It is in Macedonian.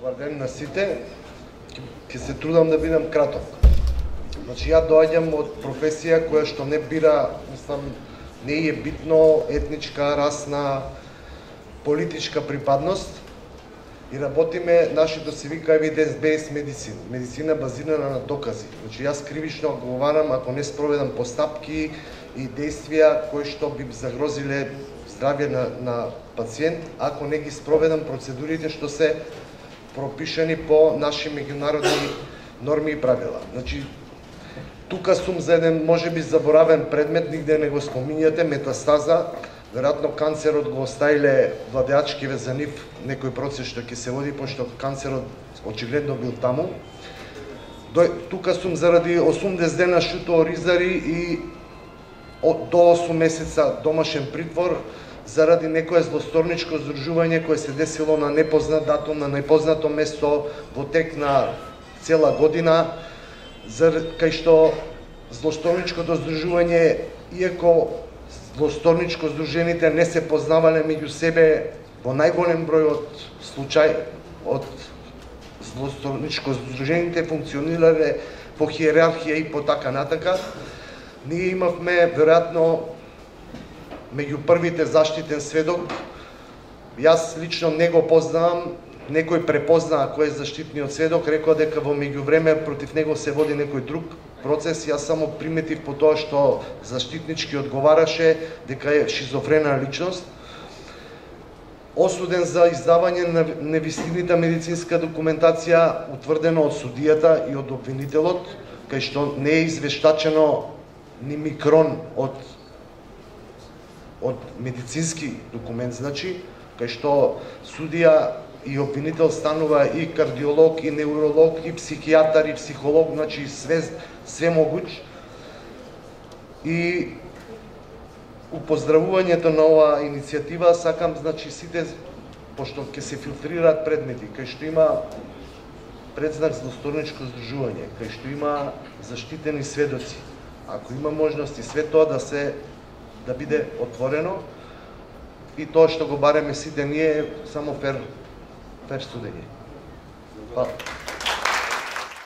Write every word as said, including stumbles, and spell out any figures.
Добар ден на сите. Ќе се трудам да бидам краток. Значи, ја доаѓам од професија која што не бира, мислам, не е битно етничка, расна, политичка припадност и работиме, нашето се вика evidence-based medicine, медицина базирана на докази. Значи, јас кривично одговарам ако не спроведам постапки и действија кои што би загрозиле здравје на, на пациент, ако не ги спроведам процедурите што се пропишани по наши меѓународни норми и правила. Значи, тука сум за еден можеби заборавен предмет, нигде не го спомињате, метастаза. Веројатно канцерот го оставиле владеачкиве за нив некој процес што ќе се води, пошто канцерот очигледно бил таму. Тука сум заради осумдесет дена шуто ризари и до осум месеца домашен притвор заради некое злосторничко здружување кое се десило на непознат датум, на непознато место во тек на цела година, кај што злосторничкото здружување, иако злосторничко здружените не се познавале меѓу себе, во најголем број од случај од злосторничко здружените функционирале по хиерархија и по така натака. Ние имавме веројатно меѓу првите заштитен сведок. Јас лично не го познавам, некој препознаа кој е заштитниот сведок, рекоа дека во меѓувреме против него се води некој друг процес. Јас само приметив по тоа што заштитнички одговараше дека е шизофрена личност. Осуден за издавање на невистинита медицинска документација, утврдено од судијата и од обвинителот, кај што не е извештачено ни микрон од од медицински документ, значи, кај што судија и обвинител станува и кардиолог, и невролог, и психијатар, и психолог, значи све, све могуч. И упоздравувањето на оваа иницијатива сакам, значи, сите, пошто ќе се филтрираат предмети, кај што има предзнак злосторничко здружување, кај што има заштитени сведоци, ако има можности све тоа да се да биде отворено и тоа што го бареме сите ние само фер фер студење. Па